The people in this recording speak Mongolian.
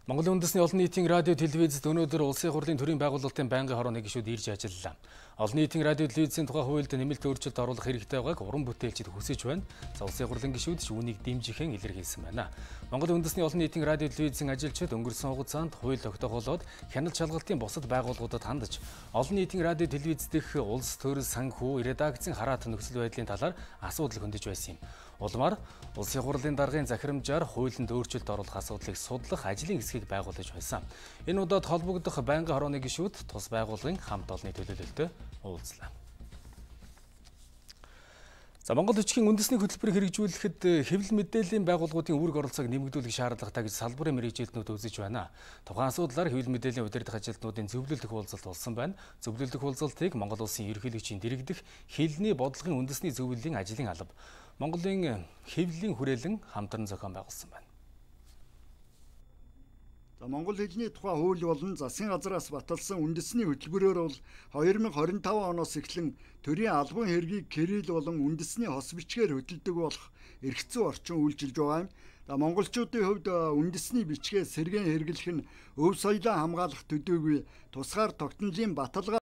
Монголын үндэсний олон нийтийн радио телевизэд өнөөдөр улсын хурлын төрийн байгуулалтын байнгын хорооны гишүүд ирж ажиллалаа. Олон нийтийн радио телевизийн тухай хуулинд нэмэлт өөрчлөлт оруулах хэрэгтэй байгааг уран бүтээлчид хүсэж байна. Улсын хурлын гишүүд үүнийг дэмжихэн илэрхийлсэн байна. Монголын үндэсний олон нийтийн радио телевизийн ажилчид өнгөрсөн хугацаанд хууль тогтоохолоод хяналт шалгалтын бусад байгууллагуудад хандаж олон нийтийн радио телевиз дэх улс төрөл санхүү редакцийн хараат нөхцөл байдлын талаар асуудал хөндөж байсан юм. Улмаар улсын хурлын даргын захирамжаар хуулинд өөрчлөлт оруулах асуудлыг судлах ажлын хэсгийг байгуулж байсан. Энэ удаад холбогдох байнгын хорооны гишүүд тус байгууллагын хамт олонны төлөөлөлтөд уулзлаа. Монгол бичгийн үндэсний хөтөлбөрийг хэрэгжүүлэхэд хэвлэл мэдээллийн байгууллагуудын үүрэг оролцоог нэмэгдүүлэх шаардлагатай гэж салбарын мэргэжилтнүүд үзэж байна. Тухайн асуудлаар хэвлэл мэдээллийн удирдах ажилтнуудын зөвлөлдөх уулзалт болсон байна. Зөвлөлдөх уулзалтыг Монгол улсын ерөнхийлөгчийн дэргэдэх хэлний бодлогын үндэсний зөвлөлийн ажлын алба Монголын хэвлэлийн хүрээлэн хамтран зохион байгуулсан байна. Монгол хэлний тухай хууль болон засгийн газраас баталсан үндэсний хөтөлбөрөөр бол 2025 оноос эхлэн төрийн албан хэргийг кирилл болон үндэсний хос бичгээр хөтэлдэг болох эрх зүйн орчин үйлчилж байгаа юм. Монголчуудын хувьд үндэсний бичгээ сэргээн хэрэглэх нь өв соёлоо хамгаалах төдийгүй тусгаар тогтнолын баталгаа